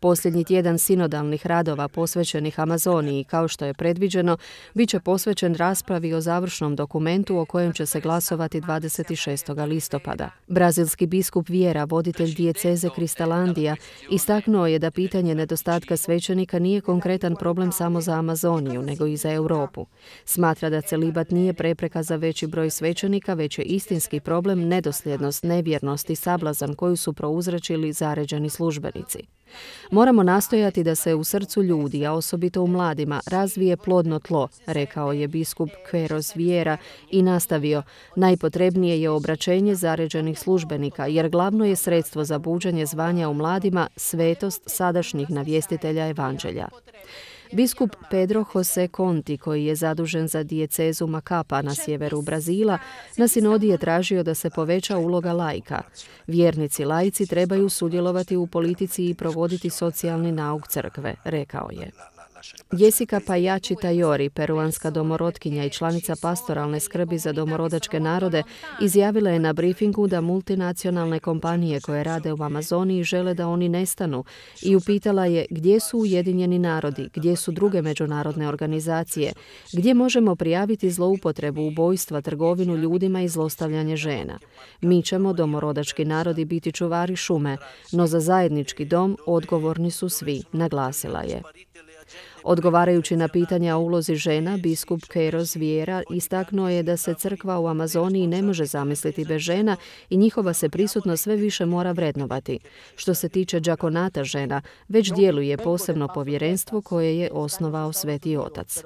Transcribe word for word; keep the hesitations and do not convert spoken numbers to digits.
Posljednji tjedan sinodalnih radova posvećenih Amazoniji, kao što je predviđeno, bit će posvećen raspravi o završnom dokumentu o kojem će se glasovati dvadeset šestog listopada. Brazilski biskup Vieira, voditelj dijeceze Kristalandija, istaknuo je da pitanje nedostatka svećenika nije konkretan problem samo za Amazoniju, nego i za Europu. Smatra da celibat nije prepreka za veći broj svećenika, već je istinski problem nedosljednost, nevjernost i sablazan koju su prouzročili zaređeni službenici. Moramo nastojati da se u srcu ljudi, a osobito u mladima, razvije plodno tlo, rekao je biskup Queiroz Vieira i nastavio, najpotrebnije je obraćenje zaređenih službenika, jer glavno je sredstvo za buđenje zvanja u mladima svetost sadašnjih navjestitelja evanđelja. Biskup Pedro José Conti, koji je zadužen za dijecezu Macapa na sjeveru Brazila, na sinodi je tražio da se poveća uloga laika. Vjernici laici trebaju sudjelovati u politici i provoditi socijalni nauk crkve, rekao je. Jessica Payachi Tayori, peruanska domorotkinja i članica pastoralne skrbi za domorodačke narode, izjavila je na briefingu da multinacionalne kompanije koje rade u Amazoniji žele da oni nestanu i upitala je gdje su Ujedinjeni narodi, gdje su druge međunarodne organizacije, gdje možemo prijaviti zloupotrebu, ubojstva, trgovinu ljudima i zlostavljanje žena. Mi ćemo, domorodački narodi, biti čuvari šume, no za zajednički dom odgovorni su svi, naglasila je. Odgovarajući na pitanja o ulozi žena, biskup Queiroz Vieira istaknuo je da se crkva u Amazoniji ne može zamisliti bez žena i njihova se prisutnost sve više mora vrednovati. Što se tiče džakonata žena, već djeluje posebno povjerenstvo koje je osnovao Sveti Otac.